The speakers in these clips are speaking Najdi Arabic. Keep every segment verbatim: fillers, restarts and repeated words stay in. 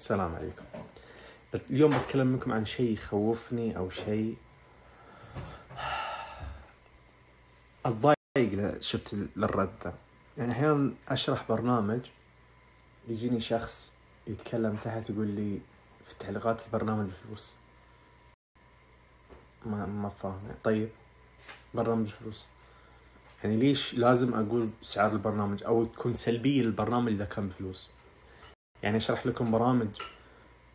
السلام عليكم. اليوم بتكلم منكم عن شيء يخوفني أو شيء أتضايق شفت للرد ذا. يعني أحيانا أشرح برنامج يجيني شخص يتكلم تحت يقول لي في تعليقات البرنامج بفلوس. ما ما فاهم. طيب برنامج فلوس يعني ليش لازم أقول سعر البرنامج أو تكون سلبية للبرنامج إذا كان بفلوس؟ يعني أشرح لكم برامج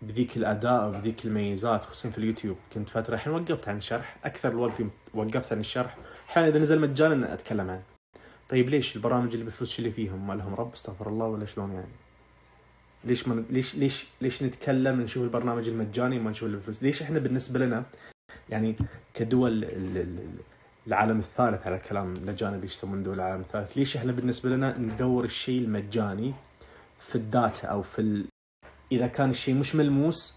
بذيك الأداء وبذيك الميزات خصوصا في اليوتيوب. كنت فترة الحين وقفت عن الشرح، أكثر الوقت وقفت عن الشرح. حين إذا نزل مجانا أتكلم عنه. طيب ليش البرامج اللي بفلوس شو اللي فيهم؟ ما لهم رب استغفر الله ولا شلون يعني؟ ليش من ليش ليش ليش نتكلم نشوف البرنامج المجاني وما نشوف اللي بفلوس؟ ليش إحنا بالنسبة لنا يعني كدول العالم الثالث على كلام لجانب يسمون دول العالم الثالث، ليش إحنا بالنسبة لنا ندور الشيء المجاني في الداتا أو في ال... إذا كان الشيء مش ملموس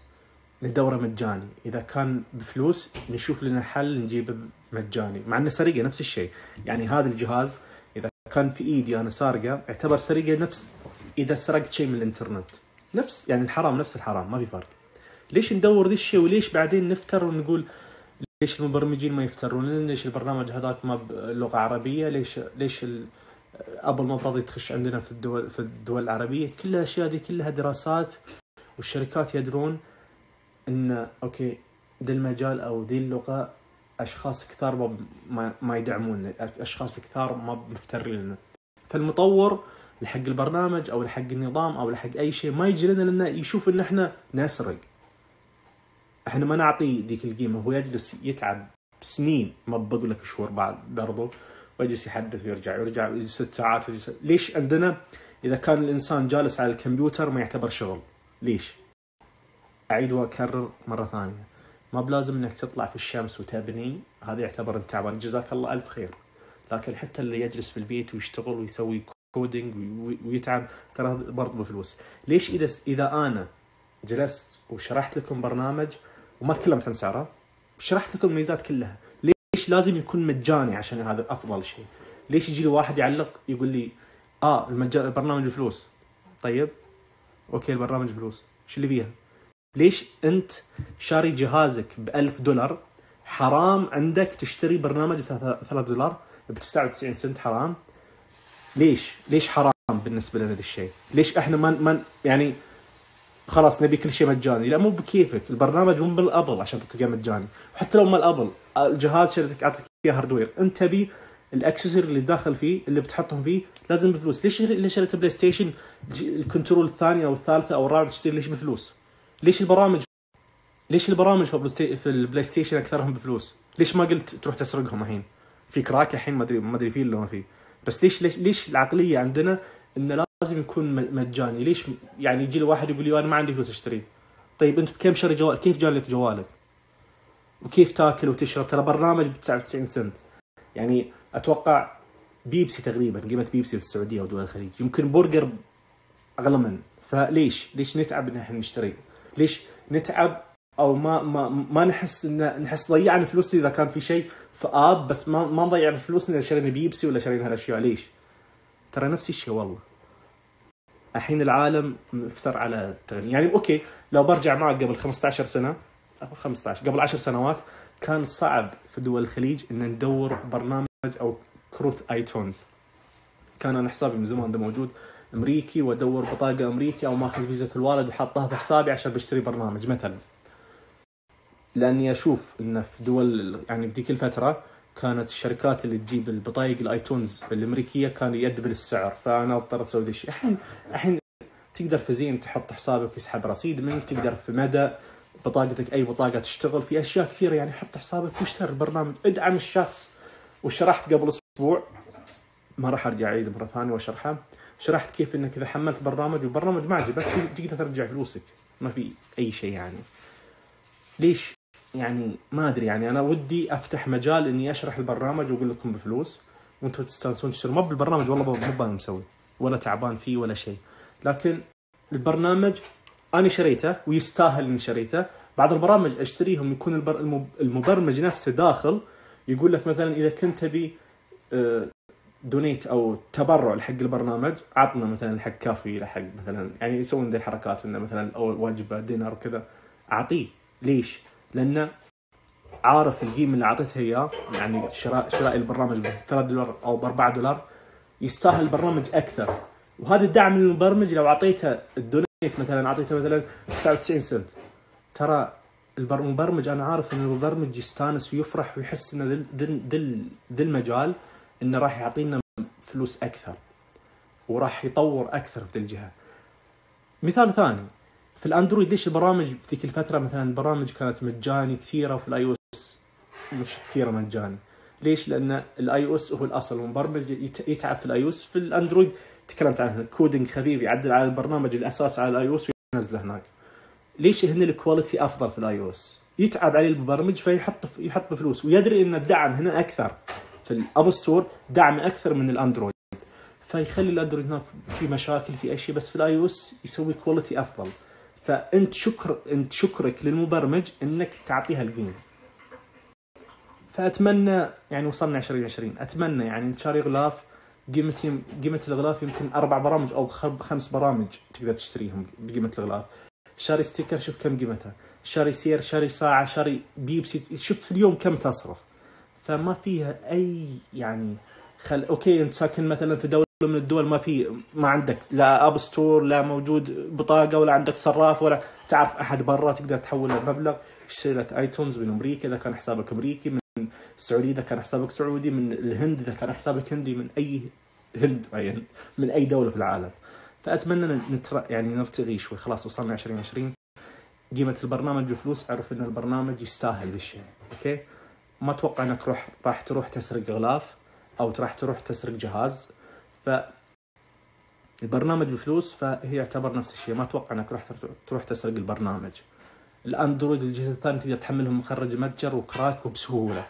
ندوره مجاني، إذا كان بفلوس نشوف لنا حل نجيبه مجاني، مع أنه سرقة نفس الشيء. يعني هذا الجهاز إذا كان في إيدي أنا سارقة اعتبر سرقة نفس إذا سرقت شيء من الإنترنت، نفس يعني الحرام نفس الحرام، ما في فرق. ليش ندور ذي الشيء وليش بعدين نفتر ونقول ليش المبرمجين ما يفترون؟ ليش البرنامج هذاك ما بلغة عربية؟ ليش ليش ال... أبل ما براضي تخش عندنا في الدول في الدول العربية؟ كل الأشياء دي كلها دراسات، والشركات يدرون إن أوكي ذا المجال أو ذي اللغة أشخاص كثار ما ما يدعمون، أشخاص كثار ما مفترين لنا. فالمطور لحق البرنامج أو لحق النظام أو لحق أي شيء ما يجي لنا لأنه يشوف إن إحنا نسرق. إحنا ما نعطي ذيك القيمة. هو يجلس يتعب سنين، ما بقول لك شهور بعد برضو، ويجلس يحدث ويرجع يرجع ست ساعات ويجلس. ليش عندنا إذا كان الإنسان جالس على الكمبيوتر ما يعتبر شغل؟ ليش؟ أعيد وأكرر مرة ثانية، ما بلازم إنك تطلع في الشمس وتبني، هذا يعتبر أنت تعبان، جزاك الله ألف خير. لكن حتى اللي يجلس في البيت ويشتغل ويسوي كودينج ويتعب ترى برضه بفلوس. ليش إذا إذا أنا جلست وشرحت لكم برنامج وما تكلمت عن سعره، شرحت لكم الميزات كلها، ليش لازم يكون مجاني عشان هذا أفضل شيء؟ ليش يجي لي واحد يعلق يقول لي آه المجان البرنامج بفلوس؟ طيب أوكي البرنامج بفلوس، شو اللي فيها؟ ليش أنت شاري جهازك بألف دولار حرام عندك تشتري برنامج بثلاثة دولار بتسعة وتسعين سنت؟ حرام. ليش ليش حرام بالنسبة لنا ذا الشيء؟ ليش إحنا ما من يعني خلاص نبي كل شيء مجاني؟ لا مو بكيفك، البرنامج مو بالأبل عشان تلقاه مجاني، وحتى لو ما الأبل الجهاز شريتك أعطيك إياه هاردوير، أنت تبي الأكسسوار اللي داخل فيه اللي بتحطهم فيه لازم بفلوس. ليش ليش شريت بلاي ستيشن الكنترول الثانية أو الثالثة أو الرابعة تشتري ليش بفلوس؟ ليش البرامج ليش البرامج في البلاي ستيشن أكثرهم بفلوس؟ ليش ما قلت تروح تسرقهم الحين؟ في كراك الحين ما أدري ما أدري فيه ولا ما فيه، بس ليش ليش ليش العقلية عندنا إنه لازم يكون مجاني؟ ليش يعني يجي لي واحد يقول لي أنا ما عندي فلوس أشتريه؟ طيب أنت بكم شاري جوال؟ كيف جالك جوالك؟ وكيف تاكل وتشرب؟ ترى برنامج بتسعة وتسعين سنت. يعني أتوقع بيبسي تقريبا قيمة بيبسي في السعودية ودول الخليج يمكن برجر أغلى من. فليش ليش نتعب إن إحنا نشتري؟ ليش نتعب أو ما ما ما نحس إن نحس ضيعنا فلوس إذا كان في شيء في آب، بس ما ما نضيع فلوسنا إذا شرينا بيبسي ولا شرينا هالأشياء؟ ليش؟ ترى نفس الشيء والله. الحين العالم مفتر على التغني. يعني أوكي لو برجع معك قبل خمسة عشر سنة أو خمسة عشر قبل عشر سنوات كان صعب في دول الخليج إن ندور برنامج أو كروت آيتونز. كان أنا حسابي من زمان ده موجود أمريكي وأدور بطاقة أمريكي أو ماخذ فيزة الوالد وحطها في حسابي عشان بشتري برنامج مثلا، لأني أشوف إن في دول يعني في ذيك الفترة كانت الشركات اللي تجيب البطايق الآيتونز الأمريكية كان يدبل السعر، فأنا اضطريت أسوي ذي الشيء. الحين الحين تقدر في زين تحط حسابك يسحب رصيد منك، تقدر في مدى بطاقتك أي بطاقة تشتغل في أشياء كثيرة. يعني حط حسابك واشتري البرنامج، ادعم الشخص. وشرحت قبل أسبوع ما راح أرجع أعيد مرة ثانية وأشرحها، شرحت كيف إنك إذا حملت برنامج والبرنامج ما عجبك تقدر ترجع فلوسك، ما في أي شيء. يعني ليش يعني ما أدري. يعني أنا ودي أفتح مجال إني أشرح البرنامج وأقول لكم بفلوس وأنتوا تستانسون تشترون. ما بالبرنامج والله مو بان مسوي ولا تعبان فيه ولا شيء، لكن البرنامج أنا شريته ويستاهل إني شريته. بعض البرامج أشتريهم يكون المبرمج نفسه داخل يقول لك مثلا إذا كنت تبي دونيت او تبرع لحق البرنامج، عطنا مثلا حق كافي لحق مثلا يعني يسوون ذي الحركات انه مثلا اول وجبه دينار وكذا، اعطيه. ليش؟ لانه عارف القيمه اللي اعطيتها اياه، يعني شراء شراء البرنامج ب ثلاثة دولار او ب أربعة دولار يستاهل البرنامج اكثر. وهذا الدعم للمبرمج لو اعطيته الدونيت مثلا اعطيته مثلا تسعة وتسعين سنت، ترى المبرمج انا عارف ان المبرمج يستانس ويفرح ويحس انه ذي ذي ذي المجال انه راح يعطينا فلوس اكثر وراح يطور اكثر في ذي الجهه. مثال ثاني في الاندرويد، ليش البرامج في ذيك الفتره مثلا البرامج كانت مجاني كثيره وفي الاي او اس مش كثيره مجاني؟ ليش؟ لان الاي او اس هو الاصل، والمبرمج يتعب في الاي او اس. في الاندرويد تكلمت عنه، كودينج خفيف يعدل على البرنامج الاساس على الاي او اس وينزله هناك. ليش؟ هنا الكواليتي افضل في الاي او اس، يتعب عليه المبرمج فيحط يحط بفلوس، ويدري ان الدعم هنا اكثر في الاب ستور، دعم اكثر من الاندرويد، فيخلي الاندرويد هناك في مشاكل في اي شيء، بس في الاي او اس يسوي كواليتي افضل. فانت شكر انت شكرك للمبرمج انك تعطيها القيمه. فاتمنى يعني وصلنا عشرين عشرين، اتمنى يعني انت شاري غلاف قيمه قيمه الغلاف يمكن اربع برامج او خمس برامج تقدر تشتريهم بقيمه الغلاف. شاري ستيكر شوف كم قيمته، شاري سير، شاري ساعه، شاري بيبسي، شوف في اليوم كم تصرف. فما فيها اي يعني خل اوكي انت ساكن مثلا في دوله من الدول ما في ما عندك لا اب ستور، لا موجود بطاقه، ولا عندك صراف، ولا تعرف احد برا تقدر تحول المبلغ، يشتري لك ايتونز من امريكا اذا كان حسابك امريكي، من السعوديه اذا كان حسابك سعودي، من الهند اذا كان حسابك هندي، من اي هند اي هند من اي دوله في العالم. فاتمنى نتر... يعني نرتقي شوي. خلاص وصلنا عشرين عشرين، قيمه البرنامج بفلوس، اعرف ان البرنامج يستاهل ذا الشيء. اوكي، ما اتوقع انك روح راح تروح تسرق غلاف او راح تروح تسرق جهاز. ف البرنامج بفلوس فهي يعتبر نفس الشيء، ما اتوقع انك راح تروح تسرق البرنامج. الاندرويد الجهه الثانيه تقدر تحملهم مخرج متجر وكراك وبسهوله.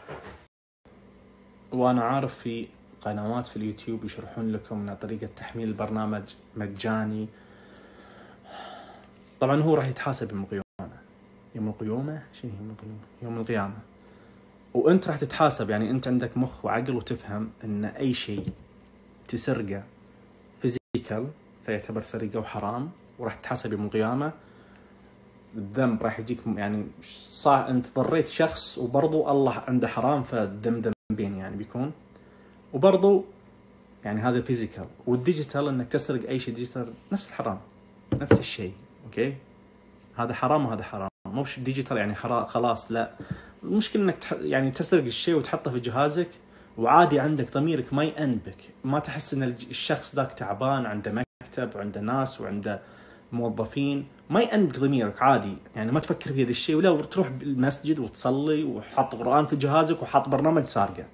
وانا عارف في قنوات في اليوتيوب يشرحون لكم طريقه تحميل البرنامج مجاني. طبعا هو راح يتحاسب يوم القيامه. يوم القيامه شنو يوم القيامه؟ يوم القيامه. وانت راح تتحاسب، يعني انت عندك مخ وعقل وتفهم ان اي شيء تسرقه فيزيكال فيعتبر سرقه وحرام، وراح تتحاسب يوم القيامه. الذنب راح يجيك، يعني صح انت ضريت شخص وبرضو الله عنده حرام، فالذنب ذنبين يعني بيكون. وبرضو يعني هذا فيزيكال. والديجيتال انك تسرق اي شيء ديجيتال نفس الحرام، نفس الشيء. اوكي، هذا حرام وهذا حرام، مو مش ديجيتال يعني حرام خلاص، لا. المشكله انك تح... يعني تسرق الشيء وتحطه في جهازك وعادي عندك ضميرك ما يأنبك، ما تحس ان الشخص ذاك تعبان، عنده مكتب وعنده ناس وعنده موظفين، ما يأنبك ضميرك عادي، يعني ما تفكر في هذا الشيء. ولا تروح بالمسجد وتصلي وحط قرآن في جهازك وحط برنامج سارقه.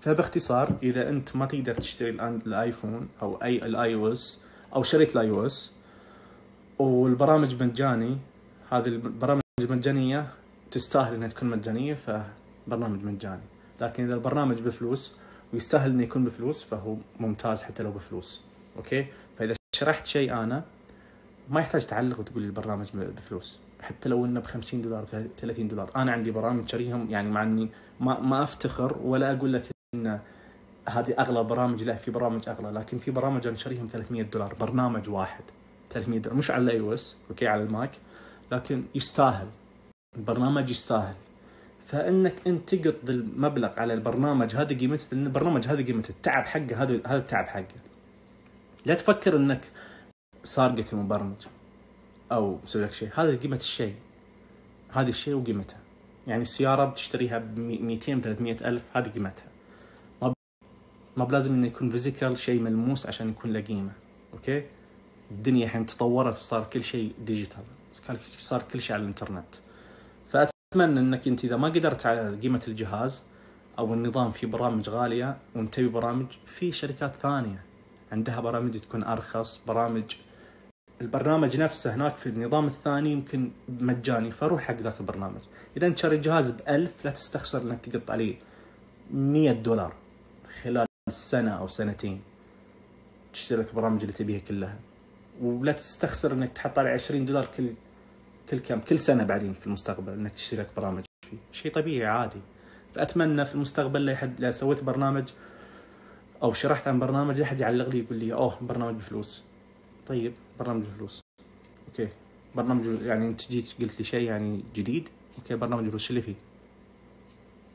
فباختصار اذا انت ما تقدر تشتري الايفون او اي الاي او اس او شريت الاي او اس والبرامج مجاني، هذه البرامج المجانيه تستاهل انها تكون مجانيه، فبرنامج مجاني. لكن اذا البرنامج بفلوس ويستاهل انه يكون بفلوس فهو ممتاز حتى لو بفلوس. اوكي، فاذا شرحت شيء انا ما يحتاج تعلق وتقول البرنامج بفلوس، حتى لو انه ب خمسين دولار ثلاثين دولار. انا عندي برامج شاريهم، يعني مع اني ما ما افتخر ولا اقول لك ان هذه اغلى برامج، لا، في برامج اغلى، لكن في برامج انا شاريهم ثلاثمية دولار، برنامج واحد ثلاثمية دولار، مش على الاي او اس، اوكي، على الماك، لكن يستاهل، البرنامج يستاهل. فانك انت تقط المبلغ على البرنامج هذا قيمته، لان البرنامج هذا قيمته، التعب حقه هذا هذا التعب حقه. لا تفكر انك سارقك المبرمج او مسوي لك شيء، هذا قيمه الشيء، هذا الشيء وقيمته. يعني السياره بتشتريها ب مئتين ثلاثمية الف، هذه قيمتها. ما ما بلازم انه يكون فيزيكال شيء ملموس عشان يكون له قيمه. اوكي، الدنيا الحين تطورت وصار كل شيء ديجيتال، صار كل شيء على الانترنت. فاتمنى انك انت اذا ما قدرت على قيمه الجهاز او النظام، في برامج غاليه وانت تبي برامج، في شركات ثانيه عندها برامج تكون ارخص، برامج البرنامج نفسه هناك في النظام الثاني يمكن مجاني، فروح حق ذاك البرنامج. اذا انت شاري جهاز بألف لا تستخسر انك تقط عليه مية دولار خلال سنه او سنتين تشتري لك البرامج اللي تبيها كلها، ولا تستخسر انك تحط عليه عشرين دولار كل كل كم كل سنه بعدين في المستقبل انك تشتري لك برامج فيه، شيء طبيعي عادي. فاتمنى في المستقبل لا حد لا سويت برنامج او شرحت عن برنامج احد يعلق لي يقول لي اوه برنامج بفلوس. طيب برنامج بفلوس اوكي، برنامج يعني انت جيت قلت لي شيء يعني جديد، اوكي برنامج بفلوس اللي فيه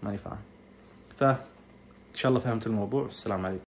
ماني فاهم. ف ان شاء الله فهمت الموضوع. السلام عليكم.